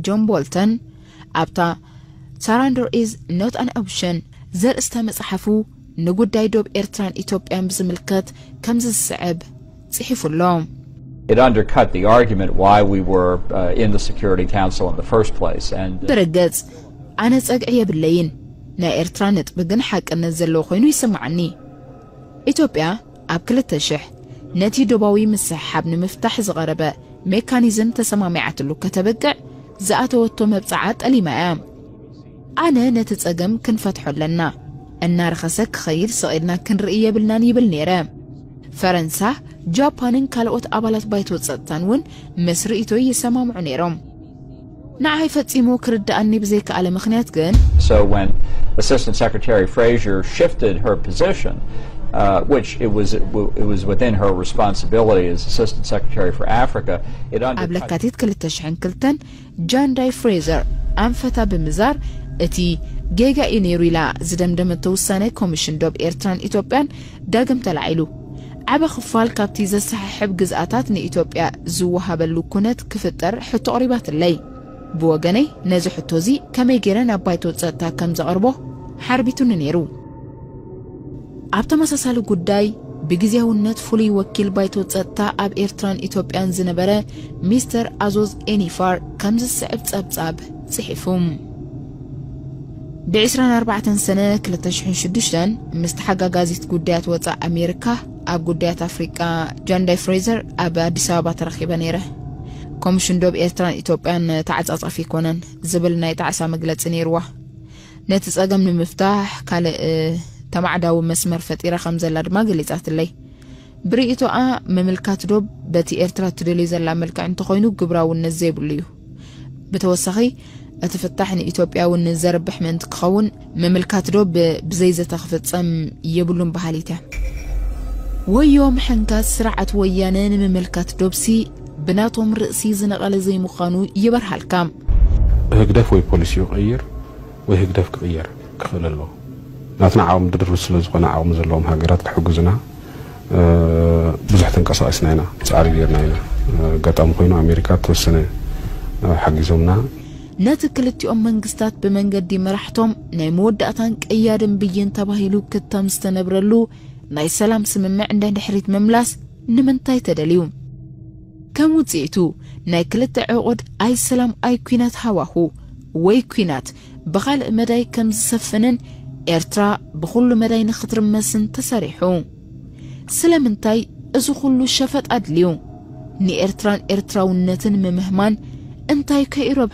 ጆን ቦልተን ኣብታ Surrender is not an option ዘርእስታ መጽሓፉ ንጉዳይ ዶብ ኤርትራን ኢትዮጵያን ብዝምልከት ከምዚ ዝስዕብ ጽሒፉ ኣሎ። It undercut the argument why we were uh, in the Security Council in the first place. And ብርግጽ ኣነ ጸግዒ የብለይን። ናይ ኤርትራ ነጥቢ ግን ሓቅነት ዘለዎ ኮይኑ ይስምዓኒ። ኢትዮጵያ ኣብ ክልተ ሽሕ ነቲ ዶባዊ ምስሕሓብ ንምፍታሕ ዝቐረበ ሜካኒዝም ተሰማሚዓትሉ ከተበቅዕ ዝኣተወቶ መብጽዓ ጠሊማ እያ። ኣነ ነቲ ጸገም ክንፈትሖ ኣለና፣ እናረኸሰ ክኸይድ ስቕ ኢልና ክንርኢ የብልናን ይብል ነይረ። ፈረንሳ፣ ጃፓንን ካልኦት ኣባላት ባይቶ ጸጥታን እውን ምስ ርእይቶይ ይሰማምዑ ነይሮም። ንዓይ ፈጺሙ ክርድኣኒ ብዘይከኣለ ምኽንያት ግን So when Assistant Secretary Fraser shifted her position, uh, which it was it was within her responsibility as Assistant Secretary for Africa, it ኣብ undercut ለካቲት ክልተ ሽሕን ክልተን ጃንዳይ ፍሬዘር ኣንፈታ ብምዛር እቲ ጌጋ እዩ ነይሩ ኢላ ዝደምደመቶ ውሳነ ኮሚሽን ዶብ ኤርትራን ኢትዮጵያን ዳግም ተላዒሉ። ዓበ ክፋል ካብቲ ዘሰሓሕብ ግዝኣታት ንኢትዮጵያ ዝወሃበሉ ኩነት ክፍጠር ሕቶ ኣቕሪባትለይ። ብወገነይ ነዚ ሕቶ እዚ ከመይ ገይረ ናብ ባይቶ ጸጥታ ከም ዘቕርቦ ሓርቢቱኒ ነይሩ። ኣብ ተመሳሳሊ ጉዳይ ብግዜያውነት ፍሉይ ወኪል ባይቶ ጸጥታ ኣብ ኤርትራን ኢትዮጵያን ዝነበረ ሚስተር ኣዞዝ ኤኒፋር ከምዚ ዝስዕብ ጸብጻብ ጽሒፉ። ብ ዕስራን ኣርባዕተን ሰነ ክልተ ሽሕን ሽዱሽተን ምስ ተሓጋጋዚት ጉዳያት ወጻእ ኣሜሪካ ኣብ ጉዳያት ኣፍሪቃ ጃንዳይ ፍሬዘር ኣብ ኣዲስ ኣበባ ተረኺበ ነይረ። ኮሚሽን ዶብ ኤርትራን ኢትዮጵያን ተዓጻጻፊ ኣይኮነን ዝብል ናይ ጣዕሳ መግለጺ ነይርዋ። ነቲ ጸገም ንምፍታሕ ካልእ ተማዕዳዊ መስመር ፈጢራ ከም ዘላ ድማ ገሊጻትለይ። ብርእይቶኣ ምምልካት ዶብ በቲ ኤርትራ ትደልዮ ዘላ መልክዕ እንተኾይኑ ግብራውነት ዘይብሉ እዩ። ብተወሳኺ እቲ ፍታሕ ንኢትዮጵያ እውን ዘርብሕ ምእንቲ ክኸውን ምምልካት ዶብ ብዘይ ዘተ ክፍጸም የብሉን በሃሊት እያ። ወዮ ምሕንካስ ስርዓት ወያነ ንምምልካት ዶብሲ ብናቶም ርእሲ ዝነቐለ ዘይምዃኑ ይበርሃልካ። ህግደፍ ወይ ፖሊሲኡ ይቕይር ወይ ህግደፍ ክቕየር ክኽእል ኣለዎ። ናትና ዓቕሚ ድርብ ስለ ዝኾነ ዓቕሚ ዘለዎም ሃገራት ክሕግዙና ብዙሕ ተንቀሳቒስና ኢና፣ ጻዕሪ ጌርና ኢና። ኣጋጣሚ ኮይኑ ኣሜሪካ ተወሰነ ሓጊዞምና። ነቲ ክልቲኦም መንግስታት ብመንገዲ መራሕቶም ናይ መወዳእታን ቀያድን ብይን ተባሂሉ ክታም ዝተነብረሉ ናይ ሰላም ስምምዕ እንዳ ድሕሪት ምምላስ ንምንታይ ተደልዩ? ከም ውጽኢቱ ናይ ክልተ ዕቑድ ኣይ ሰላም ኣይ ኲናት ሃዋሁ ወይ ኲናት ብኻልእ መዳይ ከም ዝሰፍንን ኤርትራ ብኹሉ መዳይ ንኽትርመስን ተሰሪሑ። ስለምንታይ እዚ ኹሉ ሸፈጥ ኣድልዩ? ንኤርትራን ኤርትራውነትን ምምህማን እንታይ ከይረብ